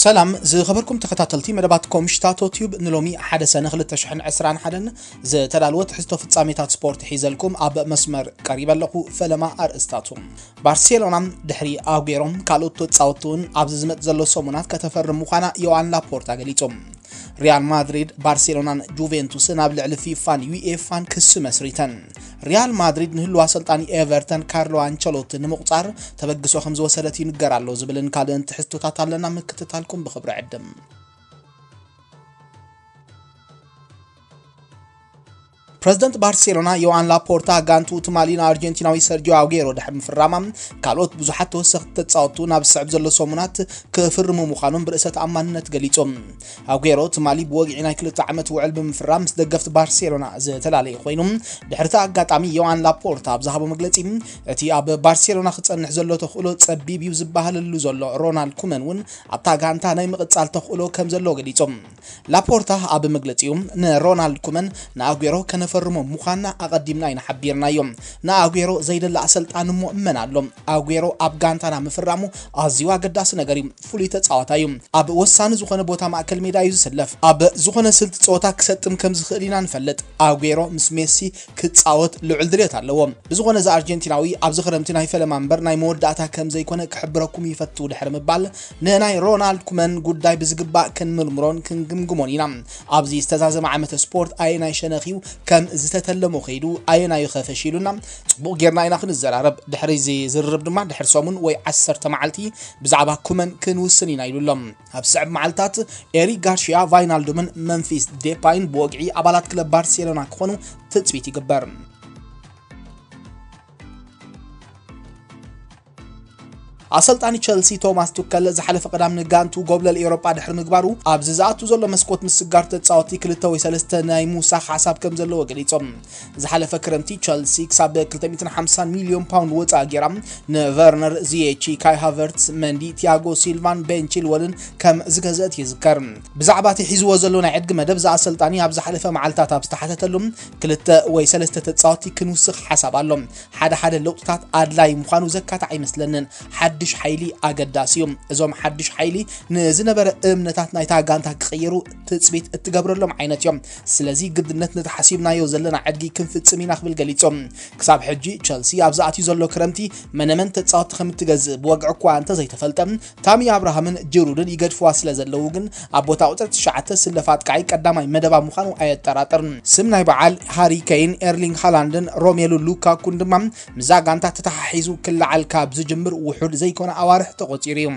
ሰላም ዝኸበርኩም ተኸታተልቲ መደባት ኮምሽታቶ ቲዩብ፣ ንሎሚ ሓደ ሰነ ክልተ ሽሕን ዕስራን ሓደን ዝተዳለወ ትሕዝቶ ፍጻሜታት ስፖርት ሒዘልኩም ኣብ መስመር ቀሪበ ኣለኹ። ፈለማ ኣርእስታቱ። ባርሴሎና ድሕሪ ኣጉዌሮን ካልኦት ተጻወትቲ እውን ኣብዚ ዝመጽእ ዘሎ ሰሙናት ከተፈርም ምዃና ዮኣን ላፖርታ ገሊጹ። ሪያል ማድሪድ፣ ባርሴሎናን ጁቬንቱስን ኣብ ልዕሊ ፊፋን ዩኤፋን ክሲ መስሪተን። ሪያል ማድሪድ ንህልው ኣሰልጣኒ ኤቨርተን ካርሎ ኣንቸሎቲ ንምቑጻር ተበግሶ ከም ዝወሰደት ይንገር ኣሎ ዝብልን ካልእን ትሕዝቶታት ኣለና፣ ምክትታልኩም ብኽብሪ ዕድም። ፕረዚደንት ባርሴሎና ዮኣን ላፖርታ፣ ጋንቱ ትማሊ ንኣርጀንቲናዊ ሰርጂዮ ኣጉዌሮ ድሕሪ ምፍራማ፣ ካልኦት ብዙሓት ተወሰኽቲ ተጻወቱ ናብ ዝስዕብ ዘሎ ሰሙናት ክፍርሙ ምዃኖም ብርእሰ ተኣማንነት ገሊጹ። ኣጉዌሮ ትማሊ ብወግዒ ናይ ክልተ ዓመት ውዕል ብምፍራም ምስ ደገፍቲ ባርሴሎና ዝተፈላለየ ኮይኑ፣ ድሕሪ እቲ ኣጋጣሚ ዮኣን ላፖርታ ኣብ ዝሃቦ መግለጺ፣ እቲ ኣብ ባርሴሎና ክጸንሕ ዘሎ ተኽእሎ ጸቢብ እዩ ዝበሃለሉ ዘሎ ሮናልድ ኩመን እውን ኣብታ ጋንታ ናይ ምቕጻል ተኽእሎ ከም ዘሎ ገሊጹ። ላፖርታ ኣብ መግለጺኡ፣ ንሮናልድ ኩመን ንኣጉዌሮ ከነፈርሞ ምዃንና ኣቐዲምና ኢና ሓቢርናዮ። ንኣጉዌሮ ዘይደሊ ኣሰልጣኒ እሞ መን ኣሎ? ኣጉዌሮ ኣብ ጋንታና ምፍራሙ ኣዝዩ ኣገዳሲ ነገር እዩ። ፍሉይ ተጻዋታይ እዩ። ኣብ ወሳኒ ዝኾነ ቦታ ማእከል ሜዳ እዩ ዝስለፍ። ኣብ ዝኾነ ስልቲ ጸወታ ክሰጥም ከም ዝኽእል ኢና ንፈልጥ። ኣጉዌሮ ምስ ሜሲ ክጻወት ልዑል ድሌት ኣለዎ። ብዝኾነ፣ እዚ ኣርጀንቲናዊ ኣብዚ ክረምቲ ናይ ፈለማ እምበር ናይ መወዳእታ ከም ዘይኮነ ክሕብረኩም ይፈቱ ድሕሪ ምባል፣ ንናይ ሮናልድ ኩመን ጉዳይ ብዝግባእ ክንምርምሮን ክንግምግሞን ኢና። ኣብዚ ዝተዛዘመ ዓመተ ስፖርት ኣየናይ ሸነኽ እዩ ከም ዝተተለሞ ከይዱ፣ ኣየናዩ ከ ፈሺሉና? ጽቡቕ ጌርና ኢና ክንዘራረብ። ድሕሪ እዚ ዝርርብ ድማ ድሕሪ ሰሙን ወይ ዓሰርተ መዓልቲ ብዛዕባ ኩመን ክንውስን ኢና ኢሉ ኣሎ። ኣብ ዝስዕብ መዓልታት ኤሪክ ጋርሺያ፣ ቫይናልዱምን መምፊስ ዴፓይን ብወግዒ ኣባላት ክለብ ባርሴሎና ክኾኑ ትጽቢት ይግበር። ኣሰልጣኒ ቸልሲ ቶማስ ቱከል ዝሓለፈ ቀዳም ንጋንቱ ጎብለል ኤውሮጳ ድሕሪ ምግባሩ፣ ኣብዚ ዝኣቱ ዘሎ መስኮት ምስጋር ተጻወቲ ክልተ ወይ ሰለስተ ናይ ምውሳኽ ሓሳብ ከም ዘለዎ ገሊጾም። ዝሓለፈ ክረምቲ ቸልሲ ክሳብ ክልተ ሚእትን ሓምሳን ሚልዮን ፓውንድ ወጻኢ ጌራ ንቨርነር፣ ዚየቺ፣ ካይ ሃቨርትስ፣ መንዲ፣ ቲያጎ ሲልቫን ቤን ቺልወልን ከም ዝገዘት ይዝከር። ብዛዕባ እቲ ሒዝዎ ዘሎ ናይ ዕድጊ መደብ፣ እዚ ኣሰልጣኒ ኣብ ዝሓለፈ መዓልታት ኣብ ዝተሓተተሉ፣ ክልተ ወይ ሰለስተ ተጻወቲ ክንውስኽ ሓሳብ ኣሎ። ሓደ ሓደ ለውጥታት ኣድላይ ምዃኑ ዘካትዕ ኣይመስለንን። ሓድሽ ሓይሊ ኣገዳሲ እዩ። እዞም ሓድሽ ሓይሊ ንዝነበረ እምነታት ናይታ ጋንታ ክቕይሩ ትጽቢት እትገብረሎም ዓይነት እዮም። ስለዚ ግድነት ነቲ ሓሲብናዮ ዘለና ዕድጊ ክንፍጽም ኢና ክብል ገሊጹ። ክሳብ ሕጂ ቸልሲ ኣብ ዝኣትዩ ዘሎ ክረምቲ መነመን ተጻወቲ ከም እትገዝእ ብወግዒ እኳ እንተዘይተፈልጠ፣ ታሚ ኣብርሃምን ጅሩድን ይገድፍዋ ስለ ዘለዉ ግን ኣብ ቦታ ቁጽሪ ትሽዓተ ዝስለፍ ኣጥቃዒ ቀዳማይ መደባ ምዃኑ ኣየጠራጥርን። ስም ናይ በዓል ሃሪ ኬይን፣ ኤርሊንግ ሃላንድን ሮሜሉ ሉካኩን ድማ ምስዛ ጋንታ ተተሓሒዙ ክለዓል ካብ ዝጅምር ውሑድ ዘይኮነ ኣዋርሕ ተቖጺሩ እዩ።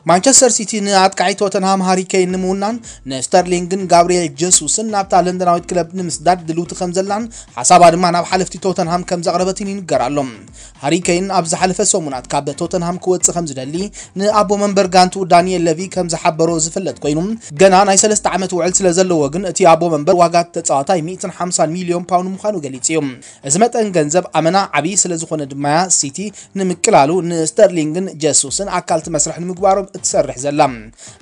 ማንቸስተር ሲቲ ንኣጥቃዒ ቶተንሃም ሃሪ ኬይን ንምውናን ንስተርሊንግን ጋብሪኤል ጀሱስን ናብታ ለንደናዊት ክለብ ንምስዳድ ድልውቲ ከም ዘላን ሓሳባ ድማ ናብ ሓለፍቲ ቶተንሃም ከም ዘቕረበትን ይንገር ኣሎ። ሃሪ ኬይን ኣብ ዝሓለፈ ሰሙናት ካብ ቶተንሃም ክወጽእ ከም ዝደሊ ንኣቦ መንበር ጋንቱ ዳንኤል ለቪ ከም ዝሓበሮ ዝፍለጥ ኮይኑ፣ ገና ናይ ሰለስተ ዓመት ውዕል ስለ ዘለዎ ግን እቲ ኣቦ መንበር ዋጋ ተጻዋታይ ሚእትን ሓምሳን ሚልዮን ፓውንድ ምዃኑ ገሊጹ እዩ። እዚ መጠን ገንዘብ ኣመና ዓብዪ ስለ ዝኾነ ድማ፣ ሲቲ ንምቅላሉ ንስተርሊንግን ጀሱስን ኣካልቲ መስርሕ ንምግባሮም እትሰርሕ ዘላ።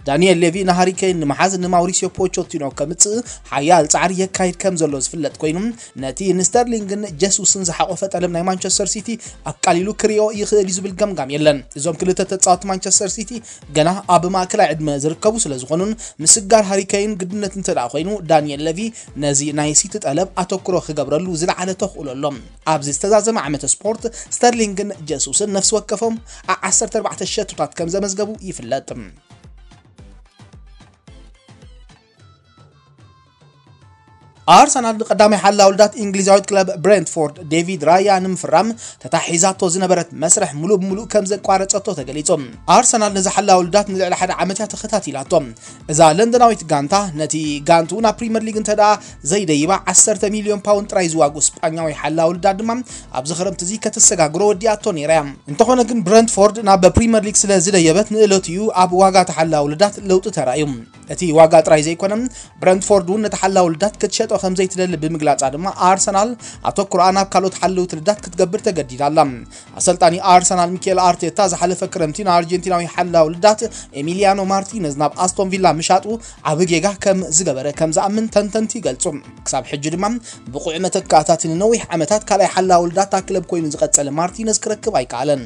ዳንኤል ሌቪ ንሃሪ ኬይን ንምሓዝ ንማውሪሲዮ ፖቾቲኖ ከምጽእ ሓያል ጻዕሪ የካይድ ከም ዘሎ ዝፍለጥ ኮይኑ፣ ነቲ ንስተርሊንግን ጀሱስን ዝሓቆፈ ጠለብ ናይ ማንቸስተር ሲቲ ኣቃሊሉ ክሪኦ ይኽእል እዩ ዝብል ገምጋም የለን። እዞም ክልተ ተጻወቲ ማንቸስተር ሲቲ ገና ኣብ ማእከላይ ዕድመ ዝርከቡ ስለ ዝኾኑን፣ ምስጋር ሃሪ ኬይን ግድነት እንተ ደኣ ኮይኑ፣ ዳንኤል ሌቪ ነዚ ናይ ሲቲ ጠለብ ኣተኩሮ ክገብረሉ ዝለዓለ ተኽእሎ ኣሎ። ኣብዚ ዝተዛዘመ ዓመተ ስፖርት፣ ስተርሊንግን ጀሱስን ነፍሲ ወከፎም ዓ-፣ ዓሰርተ ኣርባዕተ ሸቶታት ከም ዘመዝገቡ ይፍለጥ። ኣርሰናል ንቀዳማይ ሓላው ልዳት እንግሊዛዊት ክለብ ብሬንትፎርድ ዴቪድ ራያ ንምፍራም ተታሒዛቶ ዝነበረት መስርሕ ሙሉእ ብሙሉእ ከም ዘቋረጸቶ ተገሊጹ። ኣርሰናል ነዚ ሓላው ልዳት ንልዕሊ ሓደ ዓመት እያ ተኸታቲላቶ። እዛ ለንደናዊት ጋንታ ነቲ ጋንቱ ናብ ፕሪምየር ሊግ እንተ ደኣ ዘይደይባ፣ ዓሰርተ ሚልዮን ፓውንድ ጥራይ ዝዋግኡ ስጳኛዊ ሓላው ልዳት ድማ ኣብዚ ክረምቲ እዚ ከተሰጋግሮ ወዲኣቶ ነይራ እያ። እንተኾነ ግን ብረንትፎርድ ናብ ፕሪምየር ሊግ ስለ ዝደየበት ንእለቱ እዩ ኣብ ዋጋ ተሓላው ልዳት ለውጢ ተራእዩ። እቲ ዋጋ ጥራይ ዘይኮነ፣ ብረንትፎርድ እውን ነቲ ሓላዊ ልዳት ክትሸጦ ከም ዘይትደሊ ብምግላጻ ድማ፣ ኣርሰናል ኣተኩሮኣ ናብ ካልኦት ሓለውቲ ልዳት ክትገብር ተገዲዳ ኣላ። ኣሰልጣኒ ኣርሰናል ሚኬል ኣርቴታ ዝሓለፈ ክረምቲ ንኣርጀንቲናዊ ሓላዊ ልዳት ኤሚሊያኖ ማርቲነዝ ናብ ኣስቶን ቪላ ምሻጡ ዓቢ ጌጋ ከም ዝገበረ ከም ዝኣምን ተንተንቲ ይገልጹ። ክሳብ ሕጂ ድማ ብቑዕ መተካእታት ንነዊሕ ዓመታት ካልኣይ ሓላዊ ልዳት እታ ክለብ ኮይኑ ዝቐጸለ ማርቲነዝ ክረክብ ኣይከኣለን።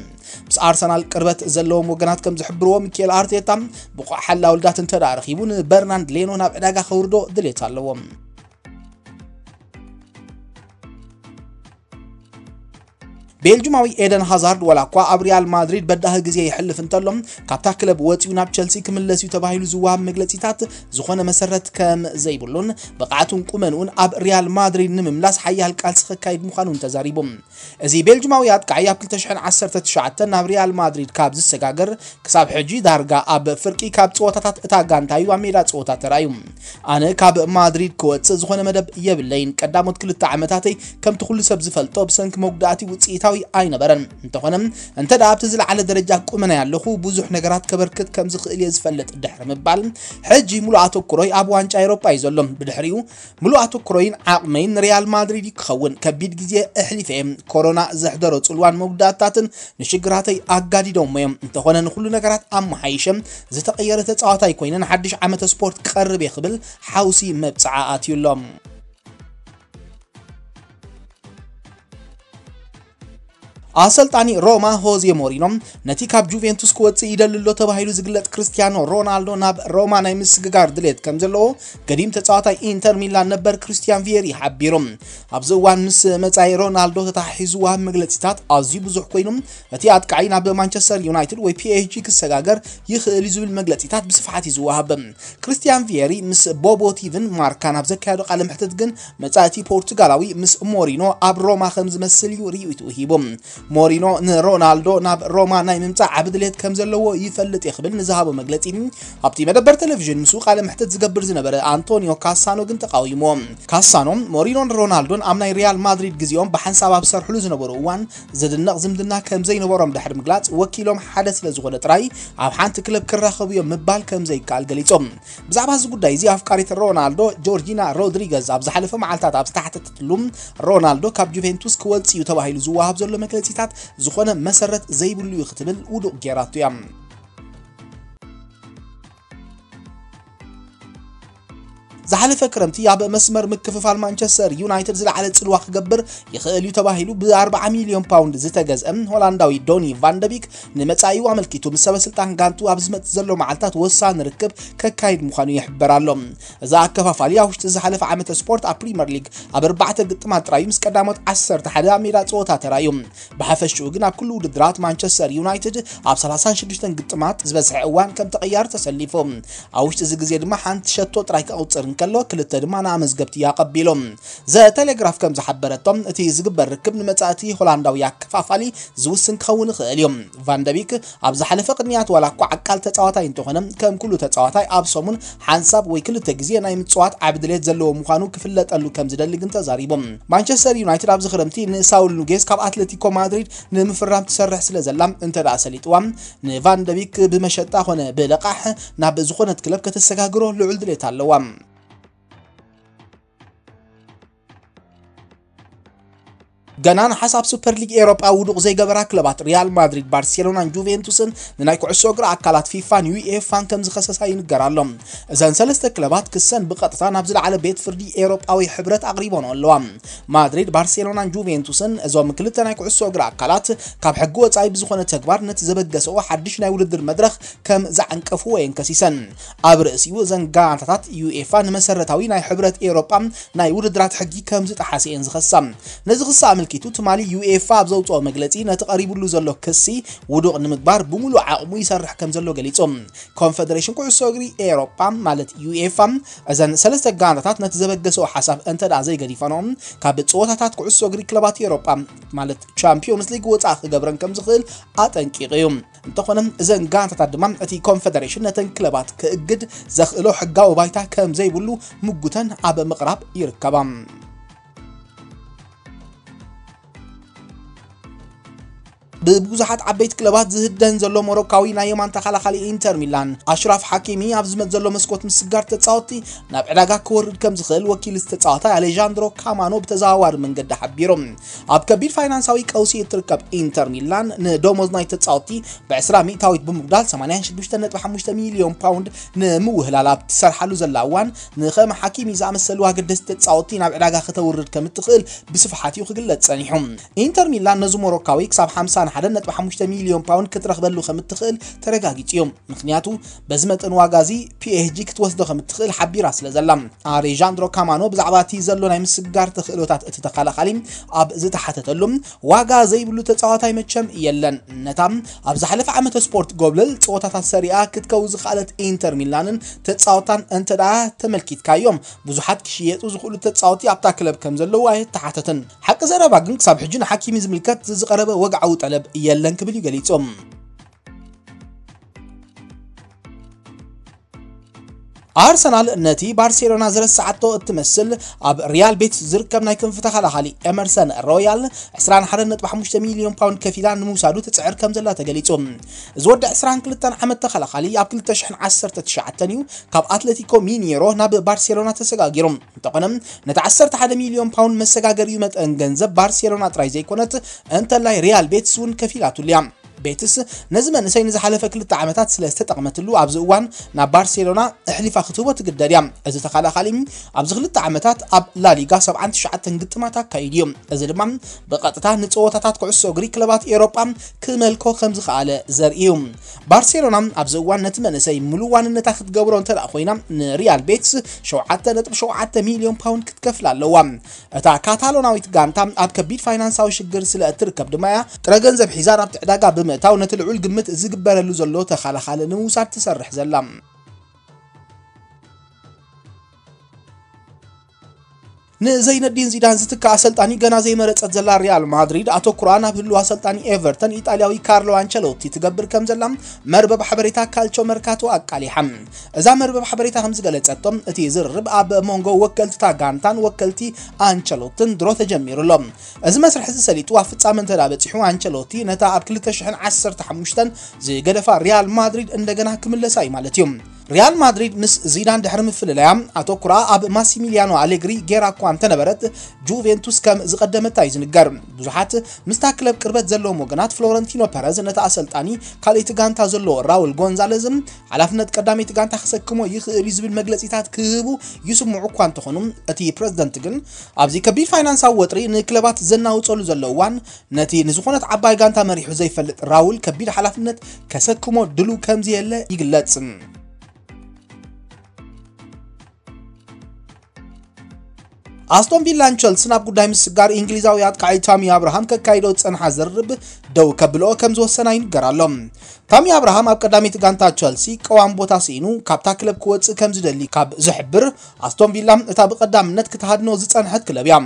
ምስ ኣርሰናል ቅርበት ዘለዎም ወገናት ከም ዝሕብርዎ፣ ሚኬል ኣርቴታ ብቑዕ ሓላዊ ልዳት እንተ ደኣ ረኺቡ፣ ንበርናንድ ሌኖ ናብ ዕዳጋ ከውርዶ ድሌት ኣለዎ። ቤልጁማዊ ኤደን ሃዛርድ ዋላ እኳ ኣብ ሪያል ማድሪድ በዳሂ ግዜ ይሕልፍ እንተሎ፣ ካብታ ክለብ ወጺኡ ናብ ቸልሲ ክምለስ እዩ ተባሂሉ ዝወሃብ መግለጺታት ዝኾነ መሰረት ከም ዘይብሉን፣ ብቕዓቱን ቁመንኡን ኣብ ሪያል ማድሪድ ንምምላስ ሓያል ቃልሲ ከካይድ ምዃኑን ተዛሪቡ። እዚ ቤልጁማዊ ኣጥቃዒ ኣብ ክልተ ሽሕን ዓሰርተ ትሽዓተን ናብ ሪያል ማድሪድ ካብ ዝሰጋገር ክሳብ ሕጂ ዳርጋ ኣብ ፍርቂ ካብ ጸወታታት እታ ጋንታ እዩ ኣብ ሜዳ ጸወታ ተራእዩ። ኣነ ካብ ማድሪድ ክወጽእ ዝኾነ መደብ የብለይን። ቀዳሞት ክልተ ዓመታተይ ከምቲ ኩሉ ሰብ ዝፈልጦ ብሰንኪ መጉዳእቲ ውጽኢታዊ ኣይነበረን። እንተኾነ፣ እንተ ደኣ ኣብቲ ዝለዓለ ደረጃ ቁመናይ ኣለኹ፣ ብዙሕ ነገራት ከበርክት ከም ዝኽእል እየ ዝፈልጥ ድሕሪ ምባል፣ ሕጂ ሙሉእ ኣተኩሮይ ኣብ ዋንጫ ኤውሮጳ እዩ ዘሎ። ብድሕሪኡ፣ ሙሉእ ኣተኩሮይን ዓቕመይን ንሪያል ማድሪድ እዩ ክኸውን። ከቢድ ግዜ ኣሕሊፈ እየ። ኮሮና ዘሕደሮ ጽልዋን መጉዳእታትን ንሽግራተይ ኣጋዲዶሞ እዮም። እንተኾነ፣ ንኹሉ ነገራት ኣመሓይሸ ዝተቐየረ ተጻዋታይ ኮይነ ንሓድሽ ዓመተ ስፖርት ክቐርብ እየ ክብል ሓውሲ መብጽዓ ኣትዩ ኣሎ። ኣሰልጣኒ ሮማ ሆዜ ሞሪኖ ነቲ ካብ ጁቬንቱስ ክወጽእ ይደሊ ኣሎ ተባሂሉ ዝግለጽ ክርስቲያኖ ሮናልዶ ናብ ሮማ ናይ ምስግጋር ድሌት ከም ዘለዎ ገዲም ተጻዋታይ ኢንተር ሚላን ነበር ክርስቲያን ቪየሪ ሓቢሩ። ኣብዚ እዋን ምስ መጻኢ ሮናልዶ ተተሓሒዙ ዝወሃብ መግለጺታት ኣዝዩ ብዙሕ ኮይኑ፣ እቲ ኣጥቃዒ ናብ ማንቸስተር ዩናይትድ ወይ ፒ ኤስ ጂ ክሰጋገር ይኽእል እዩ ዝብል መግለጺታት ብስፍሓት እዩ ዝወሃብ። ክርስቲያን ቪየሪ ምስ ቦቦ ቲቪን ማርካን ኣብ ዘካየዶ ቃለ መሕትት ግን፣ መጻእቲ ፖርቱጋላዊ ምስ ሞሪኖ ኣብ ሮማ ከም ዝመስል እዩ ርእይቱ ሂቡ። ሞሪኖ ንሮናልዶ ናብ ሮማ ናይ ምምጻእ ዓቢ ድሌት ከም ዘለዎ ይፈልጥ እየ ክብል ንዝሃቦ መግለጺ፣ ኣብቲ መደበር ቴሌቪዥን ምስኡ ቃለ መሕትት ዝገብር ዝነበረ ኣንቶኒዮ ካሳኖ ግን ተቃዊምዎ። ካሳኖ፣ ሞሪኖን ሮናልዶን ኣብ ናይ ሪያል ማድሪድ ግዜኦም ብሓንሳብ ኣብ ዝሰርሕሉ ዝነበሩ እዋን ዝድነቕ ዝምድና ከም ዘይነበሮም ድሕሪ ምግላጽ፣ ወኪሎም ሓደ ስለ ዝኾነ ጥራይ ኣብ ሓንቲ ክለብ ክራኸቡ እዮም ምባል ከም ዘይከኣል ገሊጹ። ብዛዕባ እዚ ጉዳይ እዚ ኣፍቃሪት ሮናልዶ ጆርጂና ሮድሪገዝ ኣብ ዝሓለፈ መዓልታት ኣብ ዝተሓተተትሉ፣ ሮናልዶ ካብ ጁቬንቱስ ክወጽእ እዩ ተባሂሉ ዝወሃብ ዘሎ መግለጺታት ዝኾነ መሰረት ዘይብሉ እዩ ክትብል ውዱቕ ጌራቶ እያ። ዝሓለፈ ክረምቲ ኣብ መስመር ምክፍፋል ማንቸስተር ዩናይትድ ዝለዓለ ጽልዋ ክገብር ይኽእል እዩ ተባሂሉ ብ ኣርብዓ ሚልዮን ፓውንድ ዝተገዝአ ሆላንዳዊ ዶኒ ቫንደቢክ ንመጻኢኡ ኣመልኪቱ ምስ ሰበ ስልጣን ጋንቱ ኣብ ዝመጽእ ዘሎ መዓልታት ወሳኒ ርክብ ከካይድ ምዃኑ ይሕበር ኣሎ። እዚ ኣከፋፋሊ ኣብ ውሽጢ ዝሓለፈ ዓመተ ስፖርት ኣብ ፕሪምየር ሊግ ኣብ ኣርባዕተ ግጥማት ጥራዩ ምስ ቀዳሞት ዓሰርተ ሓደ ኣብ ሜዳ ጸወታ ተራእዩ። ብሓፈሽኡ ግን ኣብ ኩሉ ውድድራት ማንቸስተር ዩናይትድ ኣብ ሰላሳን ሽዱሽተን ግጥማት ዝበዝሐ እዋን ከም ተቐያሪ ተሰሊፉ። ኣብ ውሽጢ እዚ ግዜ ድማ ሓንቲ ሸቶ ጥራይ ከቑጽር እንከሎ፣ ክልተ ድማ ንኣመዝገብቲ ኣቐቢሉ። ዘ ቴሌግራፍ ከም ዝሓበረቶ፣ እቲ ዝግበር ርክብ ንመጻእቲ ሆላንዳዊ ኣከፋፋሊ ዝውስን ክኸውን ይኽእል እዩ። ቫንደቢክ ኣብ ዝሓለፈ ቅንያት ዋላ እኳ ዓቃል ተጻዋታይ እንተኾነ፣ ከም ኩሉ ተጻዋታይ ኣብ ሰሙን ሓንሳብ ወይ ክልተ ግዜ ናይ ምጽዋት ዓቢ ድሌት ዘለዎ ምዃኑ ክፍለጠሉ ከም ዝደሊ ግን ተዛሪቡ። ማንቸስተር ዩናይትድ ኣብዚ ክረምቲ ንሳውል ኑጌዝ ካብ ኣትሌቲኮ ማድሪድ ንምፍራም ትሰርሕ ስለ ዘላ፣ እንተ ደኣ ሰሊጥዋ፣ ንቫንደቢክ ብመሸጣ ኾነ ብለቃሕ ናብ ዝኾነት ክለብ ከተሰጋግሮ ልዑል ድሌት ኣለዋ። ገና ንሓሳብ ሱፐር ሊግ ኤውሮጳ ውዱቕ ዘይገበራ ክለባት ሪያል ማድሪድ፣ ባርሴሎናን ጁቬንቱስን ንናይ ኩዕሶ እግሪ ኣካላት ፊፋን ዩኤፋን ከም ዝኸሰሳ ይንገር ኣሎ። እዘን ሰለስተ ክለባት ክሰን ብቐጥታ ናብ ዝለዓለ ቤት ፍርዲ ኤውሮጳዊ ሕብረት ኣቕሪቦን ኣለዋ። ማድሪድ፣ ባርሴሎናን ጁቬንቱስን፣ እዞም ክልተ ናይ ኩዕሶ እግሪ ኣካላት፣ ካብ ሕጊ ወጻኢ ብዝኾነ ተግባር ነቲ ዘበገሰኦ ሓድሽ ናይ ውድድር መድረኽ ከም ዘዓንቀፍዎ እየን ከሲሰን። ኣብ ርእሲኡ፣ እዘን ጋንታታት ዩኤፋ ንመሰረታዊ ናይ ሕብረት ኤውሮጳ ናይ ውድድራት ሕጊ ከም ዝጠሓሰ እየን ዝኸሳ። ነዚ ክሲ ኣመልኪቱ፣ ትማሊ ዩኤፋ ኣብ ዘውጽኦ መግለጺ፣ ነቲ ቀሪቡሉ ዘሎ ክሲ ውዱቕ ንምግባር ብምሉእ ዓቕሙ ይሰርሕ ከም ዘሎ ገሊጹ። ኮንፈደሬሽን ኩዕሶ እግሪ ኤውሮጳ፣ ማለት ዩኤፋ፣ እዘን ሰለስተ ጋንታታት ነቲ ዘበገሰኦ ሓሳብ እንተ ደኣ ዘይገዲፈንኦ፣ ካብ ጸወታታት ኩዕሶ እግሪ ክለባት ኤውሮጳ፣ ማለት ቻምፒዮንስ ሊግ፣ ወጻኢ ክገብረን ከም ዝኽእል ኣጠንቂቑ እዩ። እንተኾነ፣ እዘን ጋንታታት ድማ እቲ ኮንፈደሬሽን ነተን ክለባት ክእግድ ዘኽእሎ ሕጋዊ ባይታ ከም ዘይብሉ ምጉተን ኣብ ምቕራብ ይርከባ። ብብዙሓት ዓበይቲ ክለባት ዝህደን ዘሎ ሞሮካዊ ናይ የማን ተኸላኻሊ ኢንተር ሚላን ኣሽራፍ ሓኪሚ ኣብ ዝመጽእ ዘሎ መስኮት ምስጋር ተጻወትቲ ናብ ዕዳጋ ክወርድ ከም ዝኽእል ወኪል ዝተጻወታይ ኣሌጃንድሮ ካማኖ ብተዘዋዋሪ መንገዲ ሓቢሩ። ኣብ ከቢድ ፋይናንሳዊ ቀውሲ እትርከብ ኢንተር ሚላን ንደሞዝ ናይ ተጻወትቲ ብ20% ብምጉዳል ሰማንያን ሽዱሽተ ነጥቢ ሓሙሽተ ሚልዮን ፓውንድ ንምውህላል ኣብ ትሰርሓሉ ዘላ እዋን ንኸም ሓኪሚ ዝኣመሰሉ ኣገደስቲ ተጻወትቲ ናብ ዕዳጋ ከተውርድ ከም እትኽእል ብስፍሓት እዩ ክግለጽ ጸኒሑ። ኢንተር ሚላን ነዚ ሞሮካዊ ክሳብ ሓምሳን ሓደን ነጥቢ ሓሙሽተ ሚልዮን ፓውንድ ክትረኽበሉ ከም እትኽእል ተረጋጊጹ እዩ። ምኽንያቱ በዚ መጠን ዋጋ እዚ ፒኤስጂ ክትወስዶ ከም እትኽእል ሓቢራ ስለ ዘላ። ኣሌጃንድሮ ካማኖ ብዛዕባ እቲ ዘሎ ናይ ምስግጋር ተኽእሎታት እቲ ተኸላኻሊ ኣብ ዝተሓተተሉ፣ ዋጋ ዘይብሉ ተጻዋታይ መቸም የለን። ነታ ኣብ ዝሓለፈ ዓመተ ስፖርት ጎብለል ጸወታታት ሰሪኣ ክትከው ዝኽኣለት ኢንተር ሚላንን ተጻወታን እንተ ደኣ ተመልኪትካዮም፣ ብዙሓት ክሽየጡ ዝኽእሉ ተጻወቲ ኣብታ ክለብ ከም ዘለዉ ኣይተሓተትን። ሓቂ ዘረባ ግን ክሳብ ሕጂ ንሓኪሚ ዝምልከት ዝቐረበ ወግዓዊ ጠለብ የለን ክብል እዩ ገሊጹ። ኣርሰናል ነቲ ባርሴሎና ዝረስዓቶ እትመስል ኣብ ሪያል ቤቲስ ዝርከብ ናይ ክንፊ ተኸላኻሊ ኤመርሰን ሮያል ዕስራን ሓደን ነጥቢ ሓሙሽተ ሚልዮን ፓውንድ ከፊላ ንምውሳዱ ትጽዕር ከም ዘላ ተገሊጹ። እዚ ወዲ ዕስራን ክልተን ዓመት ተኸላኻሊ ኣብ ክልተ ሽሕን ዓሰርተ ትሽዓተን እዩ ካብ ኣትሌቲኮ ሚኔሮ ናብ ባርሴሎና ተሰጋጊሩ። እንተኾነ ነቲ ዓሰርተ ሓደ ሚልዮን ፓውንድ መሰጋገሪኡ መጠን ገንዘብ ባርሴሎና ጥራይ ዘይኮነት እንተላይ ሪያል ቤቲስ እውን ከፊላትሉ እያ። ቤትስ ነዚ መንእሰይ ንዝሓለፈ ክልተ ዓመታት ስለ ዝተጠቕመትሉ ኣብዚ እዋን ናብ ባርሴሎና ኣሕሊፋ ክትህቦ ትግደድ እያ። እዚ ተኸላኻሊ ኣብዚ ክልተ ዓመታት ኣብ ላሊጋ ሰብዓን ትሽዓተን ግጥማት ኣካይዱ እዩ። እዚ ድማ ብቐጥታ ንጸወታታት ኩዕሶ እግሪ ክለባት ኤውሮጳ ክመልኮ ከም ዝኸኣለ ዘርኢ እዩ። ባርሴሎና ኣብዚ እዋን ነቲ መንእሰይ ምሉእ ዋንነታ ክትገብሮ እንተ ደኣ ኮይና ንሪያል ቤትስ ሸውዓተ ነጥቢ ሸውዓተ ሚልዮን ፓውንድ ክትከፍል ኣለዋ። እታ ካታሎናዊት ጋንታ ኣብ ከቢድ ፋይናንሳዊ ሽግር ስለ እትርከብ ድማ እያ ጥረ ገንዘብ ሒዛ ናብቲ ዕዳጋ ብምእታው ነቲ ልዑል ግምት ዝግበረሉ ዘሎ ተኸላኻሊ ንምውሳድ ትሰርሕ ዘላ። ንዘይነዲን ዚዳን ዝትክእ ኣሰልጣኒ ገና ዘይመረጸት ዘላ ሪያል ማድሪድ ኣተኩራ ናብ ህሉው ኣሰልጣኒ ኤቨርተን ኢጣልያዊ ካርሎ ኣንቸሎቲ ትገብር ከም ዘላ መርበብ ሓበሬታ ካልቾ መርካቶ ኣቃሊሓ። እዛ መርበብ ሓበሬታ ከም ዝገለጸቶ እቲ ዝርርብ ኣብ መንጎ ወከልቲ እታ ጋንታን ወከልቲ ኣንቸሎትን ድሮ ተጀሚሩ ኣሎ። እዚ መስርሕ እዚ ሰሊጡ ኣብ ፍጻመ እንተ ደኣ በጺሑ ኣንቸሎቲ ነታ ኣብ ክልተ ሽሕን ዓሰርተ ሓሙሽተን ዝገደፋ ሪያል ማድሪድ እንደገና ክምለሳ እዩ ማለት እዩ። ሪያል ማድሪድ ምስ ዚዳን ድሕሪ ምፍልላያ ኣተኩራ ኣብ ማሲሚሊያኖ ኣሌግሪ ገይራ እኳ እንተነበረት ጁቬንቱስ ከም ዝቐደመታ እዩ ዝንገር። ብዙሓት ምስታ ክለብ ቅርበት ዘለዎም ወገናት ፍሎረንቲኖ ፐረዝ ነቲ ኣሰልጣኒ ካልእ እቲ ጋንታ ዘለዎ ራውል ጎንዛለዝን ሓላፍነት ቀዳመይቲ ጋንታ ክሰክሞ ይኽእል እዩ ዝብል መግለጺታት ክህቡ ይስምዑ እኳ እንተኾኑ እቲ ፕረዚደንት ግን ኣብዚ ከቢድ ፋይናንሳዊ ወጥሪ ንክለባት ዘናውጸሉ ዘሎ እዋን ነቲ ንዝኾነት ዓባይ ጋንታ መሪሑ ዘይፈልጥ ራውል ከቢድ ሓላፍነት ከሰክሞ ድሉ ከም ዘየለ ይግለጽ። ኣስቶን ቪላን ቸልስን ኣብ ጉዳይ ምስጋር እንግሊዛዊ ኣጥቃዒ ታሚ ኣብርሃም ከካይዶ ዝጸንሓ ዝርርብ ደው ከብልኦ ከም ዝወሰና ይንገር ኣሎ። ታሚ ኣብርሃም ኣብ ቀዳመይቲ ጋንታ ቸልሲ ቀዋም ቦታ ስኢኑ ካብታ ክለብ ክወጽእ ከም ዝደሊ ካብ ዝሕብር ኣስቶን ቪላ እታ ብቐዳምነት ክትሃድኖ ዝጸንሐት ክለብ እያ።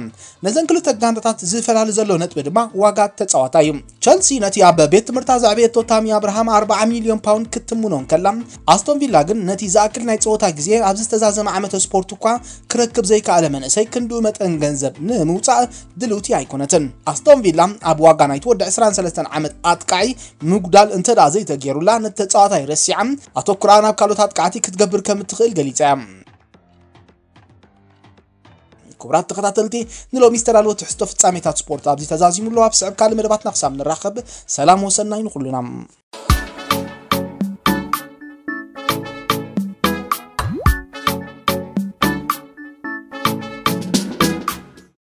ነዘን ክልተ ጋንታታት ዝፈላሊ ዘሎ ነጥቢ ድማ ዋጋ ተጻዋታይ እዩ። ቸልሲ ነቲ ኣብ ቤት ትምህርታ ዘዕበየቶ ታሚ ኣብርሃም ኣርብዓ ሚልዮን ፓውንድ ክትትምኖ እንከላ ኣስቶን ቪላ ግን ነቲ ዝኣክል ናይ ጸወታ ግዜ ኣብዚ ዝተዛዘመ ዓመተ ስፖርት እኳ ክረክብ ዘይከኣለ መንእሰይ ክንድኡ መጠን ገንዘብ ንምውጻእ ድልውቲ ኣይኮነትን። ኣስቶን ቪላ ኣብ ዋጋ ናይቲ ወዲ ዕስራን ሰለስተን ዓመት ኣጥቃዒ ምጉዳል እንተ ደኣ ዘይተገይሩላ ነቲ ተጻዋታይ ረሲዓ ኣተኩራ ናብ ካልኦት ኣጥቃዕቲ ክትገብር ከም እትኽእል ገሊጻ እያ። ክቡራት ተኸታተልቲ ንሎሚ ዝተዳለወ ትሕዝቶ ፍጻሜታት ስፖርት ኣብዚ ተዛዚሙ ኣሎ። ኣብ ስዕብ ካልእ መደባትና ክሳብ ንራኸብ ሰላም ወሰናይ ንኹሉና።